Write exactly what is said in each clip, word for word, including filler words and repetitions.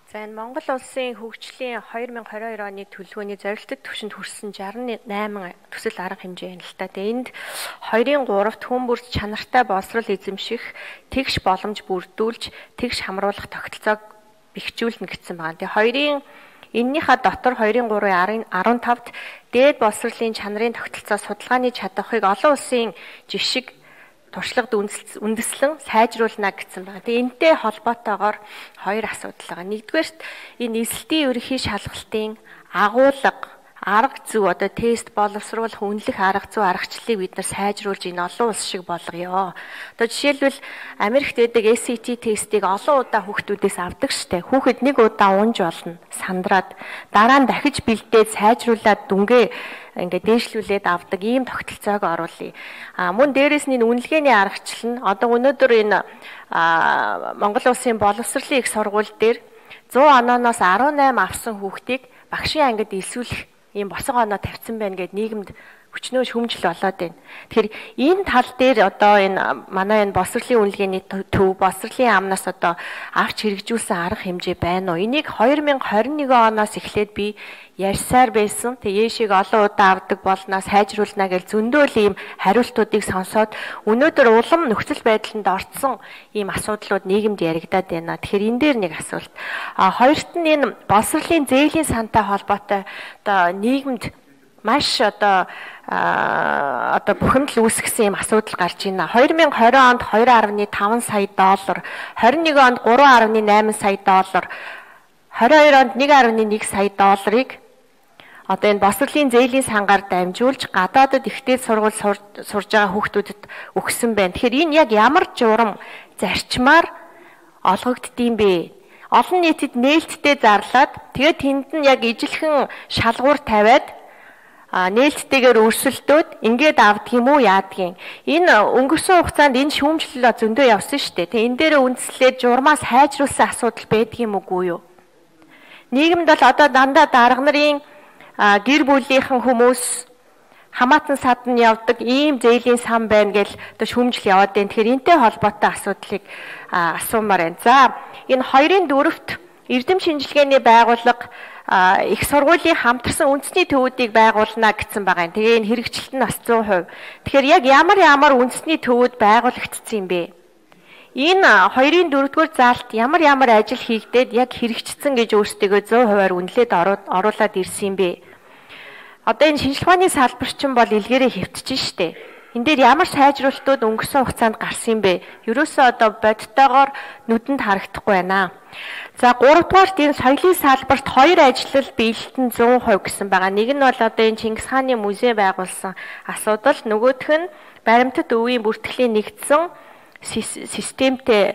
За энэ Монгол улсын хөгжлийн две тысячи двадцать two оны төлөвлөгөөний зорилттой түвшинд хүрсэн sixty-eight төсөл арга хэмжээ юм л та. Тэгээ энд two-ын three-т хүн бүрд чанартай боловсрол эзэмших, тэгш боломж бүрдүүлж, тэгш хамруулах тогтолцоог бэхжүүлнэ гэсэн байна. Тэгээ two-ын эннийхээ дотор two-ын three-ийн fifteen-т дээд боловсролын чанарын тогтолцоо судалгааны чадварыг олон улсын жишг туршлагад үндэслэн сайжруулна гэсэн байна. Тэгээ энэтэй холбоотойгоор хоёр асуудал байгаа. Нэгдүгээрт энэ эсэлтийн ерөнхий шалгалтын агуулга, арга зүй одоо тест боловсруулах үнэлэх арга зүй аргачлалыг бид нар сайжруулж энэ олон улс шиг болгоё. Одоо жишээлбэл Америкт байдаг S A T тестийг олон удаа хүүхдүүдээс авдаг штэ. Хүүхэд нэг удаа унж болно, сандраад дараа нь дахиж бэлдээд сайжруулад дүнгээ ингээд дээшлүүлээд авдаг ийм тогтолцоог оруулъя. А мөн дээрэс нь үнэлгээний аргачлал нь одоо өнөөдөр энэ Монгол улсын боловсролын их сургууль дээр one hundred оноос eighteen авсан хүүхдийг багшийн ангид элсүүлэх ийм босго оноо тавьсан байна гэд нийгэмд хүчнөө шүмжил болоод байна. Тэгэхээр энэ тал дээр одоо энэ манай энэ боловсролын үнэлгээний төв, боловсролын амнаас одоо авч хэрэгжүүлсэн арга хэмжээ байна уу? Энийг twenty twenty-one оноос эхлээд би ярьсаар байсан. Тэгээ яшиг олон удаа авдаг болноо сайжруулна гэж зөндөөл ийм хариултуудыг сонсоод өнөөдөр улам нөхцөл байдланд орцсон ийм асуудлууд нийгэмд яригадаад байна. Тэгэхээр энэ дээр нэг асуулт. А хоёрт нь энэ боловсролын зээлийн сантай холбоотой одоо нийгэмд маш одоо одоо бухимдал үүсгэсэн юм асуудал гарч байна. twenty twenty онд two point five сая доллар, twenty-one онд three point eight сая доллар, twenty-two онд one point one сая долларыг одоо энэ боловсролын зээлийн сангаар дамжуулж гадаадд ихтэй сургууль сурж байгаа хүүхдүүдэд өгсөн байна. Тэгэхээр энэ яг ямар журам зарчмаар олгогддсон бэ? Олон нийтэд нээлттэй зарлаад тэгээд тэнд нь яг ижилхэн шалгуур тавиад а нээлттэйгээр өрсөлдөөд ингээд авдаг юм уу яадгийн. Энэ өнгөрсөн хугацаанд энэ шүүмжлэл зөндөө явсан шүү дээ. Тэгээ энэ дээр үндэслээд журмаас хайжруулсан асуудал байдаг юм үгүй юу? Нийгэмд бол одоо дандаа дарга нарын гэр бүлийнхэн хүмүүс хамаатан садан явдаг ийм зээлийн сан байна гэж одоо шүүмжил яваад байна. Тэгэхээр энэтэй холбоотой асуудлыг асуумаар байна. За энэ two-ын four-т эрдэм шинжилгээний байгууллага их сургуулийн хамтарсан үндэсний төвүүдийг байгуулна гэсэн байгаа юм. Тэгээ энэ хэрэгжилт нь бас one hundred percent. Тэгэхээр яг ямар ямар үндэсний төвүүд байгуулагдсан юм бэ? Энэ two-ын four-р заалт ямар ямар ажил хийгдээд яг хэрэгжсэн гэж өөрсдөө one hundred percent үнэлээд оруулаад ирсэн юм бэ? Одоо энэ шинжилгээ ухааны салбар чинь бол илгээрээ хэвтэж штэ. Энд дээр ямар сайжруулалтууд өнгөрсөн хугацаанд гарсан юм бэ? Ерөөсөө одоо бодтойгоор нүдэнд харагдахгүй байна. За гуравдугаарт энэ соёлын салбарт хоёр ажиллал биелэлтэн one hundred percent гэсэн байгаа. Нэг нь бол одоо энэ Чингис хааны музей байгуулсан асуудал, нөгөөх нь баримтат өвийн бүртгэлийн нэгдсэн системтэй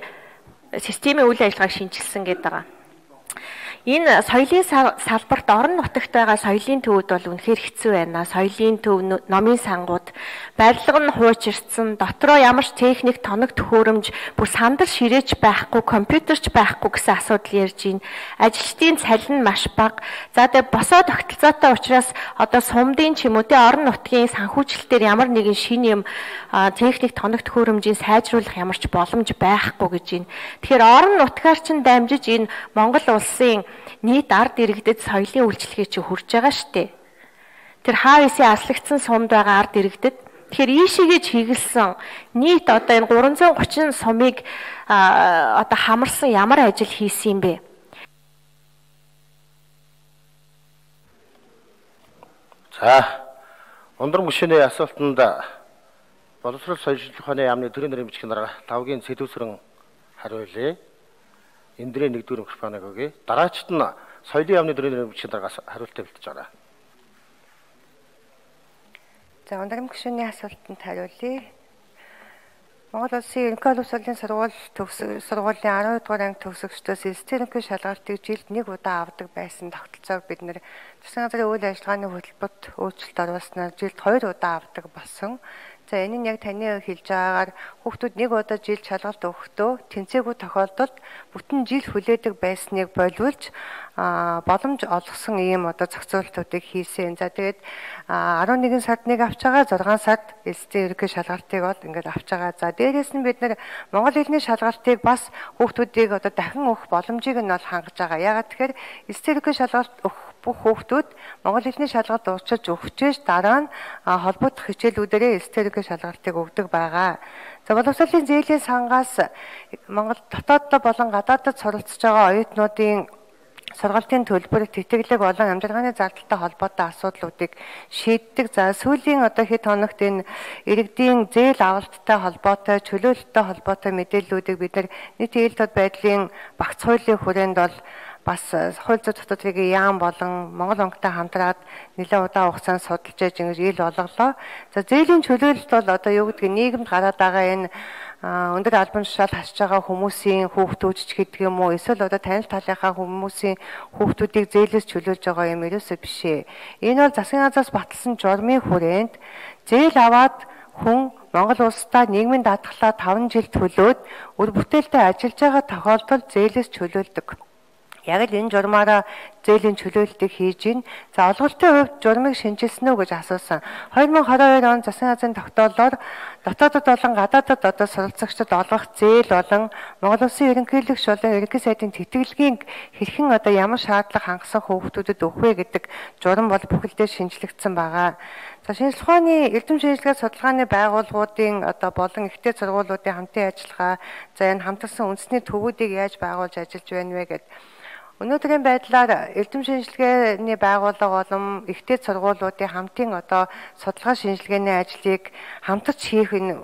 системийн үйл ажиллагааг шинжилсэн гэдэг байгаа. Энэ соёлын салбарт орон нутагт байгаа соёлын төвүүд бол үнэхээр хэцүү байна. Соёлын төв, номын сангууд, барилга нь хуучирсан, дотроо ямар ч техник, тоног төхөөрөмж, бүр сандал ширээч байхгүй, компьютерч байхгүй гэсэн асуудал ярьж байна. Ажилчдын цалин маш бага. За тэгээ босоо тогтолцоотой учраас одоо сумдын ч юм уу тэ орон нутгийн санхүүжилтээр ямар нэгэн шинэ юм техник, тоног төхөөрөмжийг сайжруулах ямар ч боломж байхгүй гэж байна. Тэгэхээр орон нутгаар ч дамжиж энэ Монгол улсын нийт ард иргэдэд соёлын үйлчлэгээ чи хүрж байгаа штэ. Тэр хаавсын аслагдсан сумд байгаа ард иргэдэд тэгэхээр ийшээгээ чиглэсэн нийт одоо энэ three hundred thirty сумыг одоо хамарсан ямар ажил хийсэн юм бэ? За өндөр гүшээний асуултанд боловсрол соёлын ухааны яамны төрийн нэрийн бичгийн дараа тавгийн сэдвүүсрэн хариулъя. Эндрийн нэгдүгээр микрофоныг өгье. Дараачд нь соёлын яамны төрийн нэрийн бичгийн дараагаас хариултаа бэлтэж байгаа. За өндөр гүшээний асуултанд хариулъя. Монгол улсын ерөнхий улс хурлын сургууль төгсөг сургуулийн twelve дугаар анги төгсөгчдөөс эстерэнхий шалгалтыг жилд нэг удаа авдаг байсан тогтолцоог бид нэр засгийн газрын үйл ажиллагааны хөтөлбөрт өөрчлөлт оруулснаар жилд two удаа авдаг болсон. За энэ нь яг таны хэлж байгаагаар хүүхдүүд нэг удаа жилд шалгалт өгөхдөө тэнцээгүй тохиолдолд бүтэн жил хүлээдэг байсныг боловлж боломж олгосон ийм одоо зохицуултуудыг хийсэн. За тэгээд арван нэгэн сард нэг авч байгаа, зургаан сард эс дэ ерөнхий шалгалтыг бол ингээд авч байгаа. За дээрээс нь бид нэр монгол хэлний шалгалтыг бас хүүхдүүдийг одоо дахин өгөх боломжийг нь бол хангаж байгаа. Яагаад тэгэхээр эс дэ ерөнхий шалгалт өгөх бүх хүүхдүүд монгол хэлний шалгалт уучилж өгчөөж дараа нь холбогдох хичээлүүдээрээ эс дэ ерөнхий шалгалтыг өгдөг байгаа. За боловсролын зээлийн сангаас Монгол дотооддоо болон гадаадд суралцж байгаа оюутнуудын сургалтын төлбөр, тэтгэлэг болон амжилгааны зардалтай холбоотой асуудлуудыг шийддэг. За сүүлийн одоо хэд хоногт энэ иргэдийн зээл авалттай холбоотой, чөлөөлөлттэй холбоотой мэдээллүүдийг бид нар нийт ээлж тод байдлын багц хуулийн хүрээнд бол бас хууль зүйн дотоодын яам болон Монгол банктай хамтраад нэлээд удаан хугацаанд судалж яаж ингэж ил болголоо. За зээлийн чөлөөлөлт бол одоо юу гэдгийг нийгэмд гараад байгаа энэ өндөр албан тушаал хасж байгаа хүмүүсийн хүүхдүүд ч гэдэг юм уу, эсвэл одоо танил талынхаа хүмүүсийн хүүхдүүдийг зээлээс чөлөөлж байгаа юм ерөөсөө биш ээ. Энэ бол засгийн газраас баталсан журмын хүрээнд зээл аваад хүн Монгол улстай нийгмийн даатгалаа таван жил төлөөд өр бүтээлтэй ажиллаж байгаа тохиолдолд зээлээс чөлөөлдөг. Яг л энэ журмаараа зээлийн чөлөөлтийг хийж гин. За олголтын хувьд журмыг шинжилсэн үү гэж асуусан. хоёр мың хорин хоёр он засгийн газрын тогтоолоор дотоодод болон гадаадад одоо суралцагчдад олгох зээл болон Монгол Улсын ерөнхийлөгч болон ерөнхий сайдын тэтгэлгийн хэрхэн одоо ямар шаардлага хангасан хүүхдүүдэд өгөх вэ гэдэг журам бол бүхэлдээ шинжлэгдсэн байгаа. За шинжилгээ ухааны эрдэм шинжилгээ судалгааны байгууллагуудын одоо болон ихтэй сургуулиудын хамтын ажиллагаа, за энэ хамтарсан үндэсний төвүүдийг яаж байгуулж ажиллаж байна вэ гэдэг. Өнөөдрийн байдлаар эрдэм шинжилгээний байгууллага болон ихтэй сургуулиудын хамтын одоо судалгаа шинжилгээний ажлыг хамтарч хийх энэ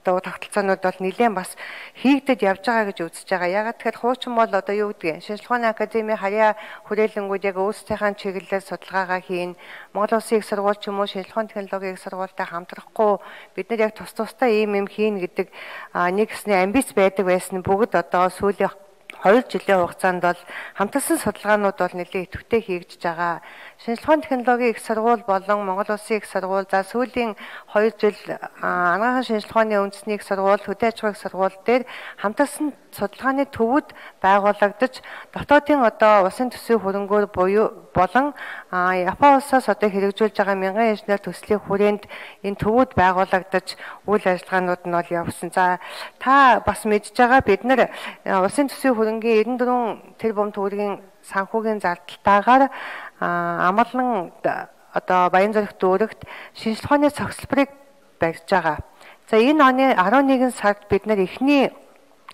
одоо тогтолцоонууд бол нэлээд бас хийгдэд явж байгаа гэж үзэж байгаа. Ягаад тэгэхээр хуучин бол одоо юу гэдгийг шинжилгээ ухааны академийн харьяа хүрээлэнгүүд яг өөрсдийнхээ чиглэлээр судалгаагаа хийн. Монгол Улсын их сургууль ч юм уу шинжилгээ ухааны технологийн их сургуультай хамтрахгүй бид нар яг тус тустай ийм юм хийн гэдэг нэг хэсний амбиц байдаг байсан бүгд одоо сүүлийн хоёр жилийн хугацаанд бол хамтарсан судалгаанууд бол нэлээд идэвхтэй хийгдэж байгаа. Шинжилгээ ухааны технологийн их сургууль болон Монгол Улсын их сургууль, за сүүлийн хоёр жил анагаахын шинжилгээ ухааны үндэсний их сургууль, хөдөө аж ахуйн их сургууль дээр хамтарсан судалгааны төвүүд байгуулагдаж дотоодын одоо улсын төсвийн хөрөнгөөр буюу болон Япон улсаас одоо хэрэгжүүлж байгаа мянган инженер төслийн хүрээнд энэ төвүүд байгуулагдаж үйл ажиллагаанууд нь бол явсан. За та бас мэдж байгаа бид нар улсын төсвийн хөрөнгийн эрдэнэ дөрвөн тэрбум төгрөгийн санхүүгийн зардалтайгаар амгалан одоо Баянзүрх дүүрэгт шинжилгээ ухааны цогцлборыг барьж байгаа. За энэ оны арван нэгэн сард бид нар эхний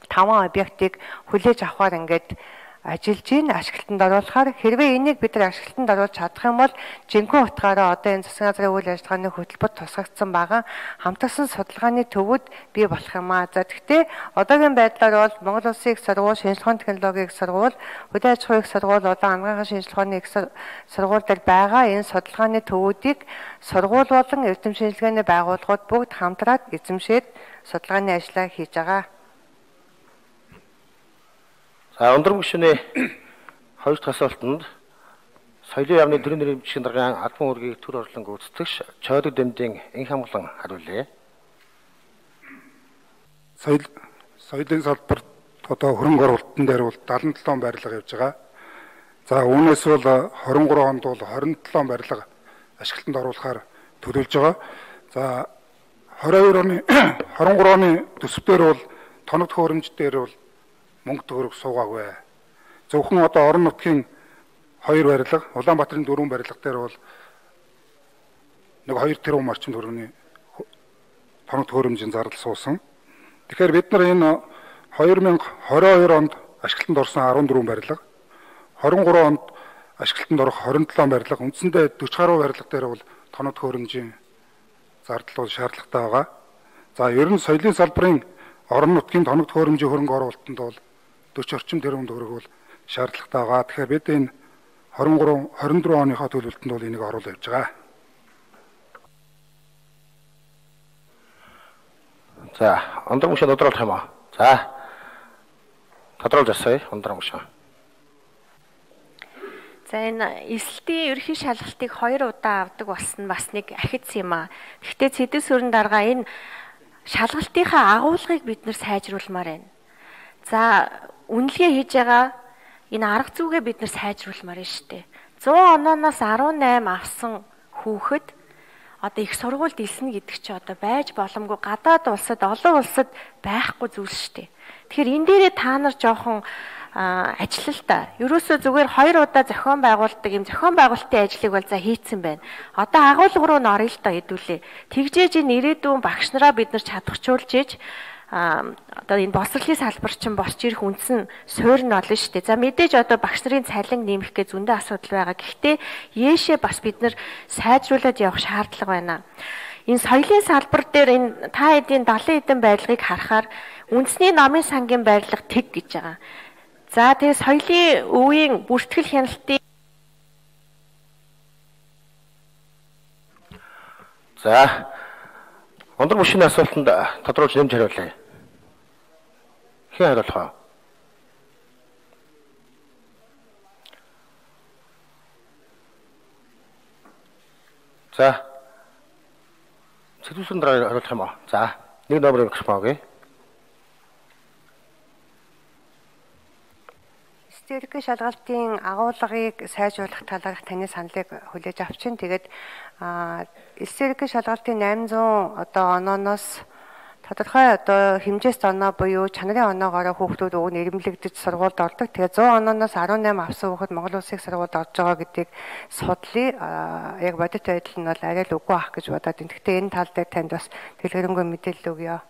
таван объектыг хүлээж авахар ингээд ажиллаж ийн ашиглалтанд оруулахаар хэрвээ энийг бид нар ашиглалтанд оруулж чадах юм бол жинхэнэ утгаараа одоо энэ засгийн газрын үйл ажиллагааны хөтөлбөр тусгагдсан байгаа хамтарсан судалгааны төвүүд бий болох юм аа. За гэхдээ одоогийн байдлаар бол Монгол Улсын их сургууль, шинжилгээ ухааны технологийн их сургууль, хөдөө аж ахуйн их сургууль, одоо анагаахын шинжилгээ ухааны их сургууль дээр байгаа энэ судалгааны төвүүдийг сургууль болон эрдэм шинжилгээний байгууллагууд бүгд хамтраад эзэмшээд судалгааны ажлаа хийж байгаа. За өндөр гишүүний хоёр дахь асуултанд соёлын яамны төрийн нэрийн бичгийн даргын албан үүргийг төр орлон гүйцэтгэгч Чойдог Дэмдийн энх хамглан хариулъя. Соёл соёлын салбарт одоо хөрөнгө оруулалтын дээр бол даалан долоон барилга явж байгаа. За үүнээс бол хорин гурван онд бол хорин долоон барилга ашиглалтанд оруулахаар төлөвлөж байгаа. За хорин хоёр оны хорин гурван оны төсвөр бол тоног төхөөрөмж дээр бол мөнгө төгрөг суугаагүй. Зөвхөн одоо орон нутгийн хоёр барилга, Улаанбаатарын дөрвөн барилга дээр бол нэг хоёр тэрбум орчим төгрөгийн тоног төхөөрөмжийн зардал суусан. Тэгэхээр бид нар энэ хоёр мянга хорин хоёр онд ашиглалтанд орсон арван дөрвөн барилга, хорин гурван онд ашиглалтанд орох хорин долоон барилга, үндсэндээ дөрвөн гаруй барилга дээр бол тоног төхөөрөмжийн зардал бол шаардлагатай байгаа. За ер нь соёлын салбарын орон нутгийн тоног төхөөрөмжийн хөрөнгө оруулалтанд бол дөрвөн орчим тэрбум төгрөг бол шаардлагатай байгаа. Тэгэхээр бид энэ хорин гурав хорин дөрвөн оныхоо төлөвлөлтөнд бол энийг оруулж явж байгаа. За, ондөр мөшөө тодруулах юм аа. За. Тодруулж асууя, ондөр мөшөө. За энэ эсэлтийн ерхий шалгалтыг хоёр удаа авдаг болсон бас нэг ахиц юм аа. Гэхдээ цэдэс сүрэн дарга энэ шалгалтынхаа агуулгыг бид нэр сайжруулмаар байна. За үнэлгээ хийж байгаа энэ арга зүйгээ бид нар сайжруулмаар нь штэ. зуун онооноос арван найм авсан хүүхэд одоо их сургуульд илснэ гэдэг чи одоо байж боломгүй гадаад улсад олон улсад байхгүй зүйл штэ. Тэгэхээр энэ дээрээ та нар жоохон ажиллал та. Ерөөсөө зүгээр хоёр удаа зохион байгуулдаг юм зохион байгуулалтын ажлыг бол за хийцэн байна. Одоо агуулга руу н орё л доо хэдүүлээ. Тэгжээж энэ ирээдүйн багш нараа бид нар чадахжуулж иж а одоо энэ боловсролын салбар чинь босч ирэх үндэс нь суурь нь олно шүү дээ. За мэдээж одоо багш нарын цалин нэмэх гэж зөндөө асуудал байгаа. Гэхдээ яашээ бас бид нар сайжруулад явах шаардлага байна. Энэ соёлын салбар дээр энэ та эдийн далайн эдийн байдлыг харахаар үндэсний намын сангийн байрлал тэг гэж байгаа. За тэгээ соёлын өвийн бүртгэл хяналтын За Ондөр машины асуултанд тодруулж нэмж хариулъя. Хэн хариулах вэ? За. Сэдвүүсэнд хариулах юм аа. За. Нэг номерыг өгч байгаа. Статистикийн шалгалтын агуулгыг сайжруулах талаарх таны саналыг хүлээж авчин. Тэгээд статистикийн шалгалтын восемьсот одоо онооноос тодорхой одоо хэмжээст оноо буюу чанарын оноогоор хүүхдүүд уг нь ирэмлэгдэж сургуульд ордог. Тэгээд сто онооноос арван найм авсан хүүхэд Монгол улсын сургуульд орж байгаа гэдгийг судлаа. Яг бодит байдал нь бол арай л үгүй ах гэж бодоод байна. Гэхдээ энэ тал дээр танд бас дэлгэрэнгүй мэдээлэл өгье.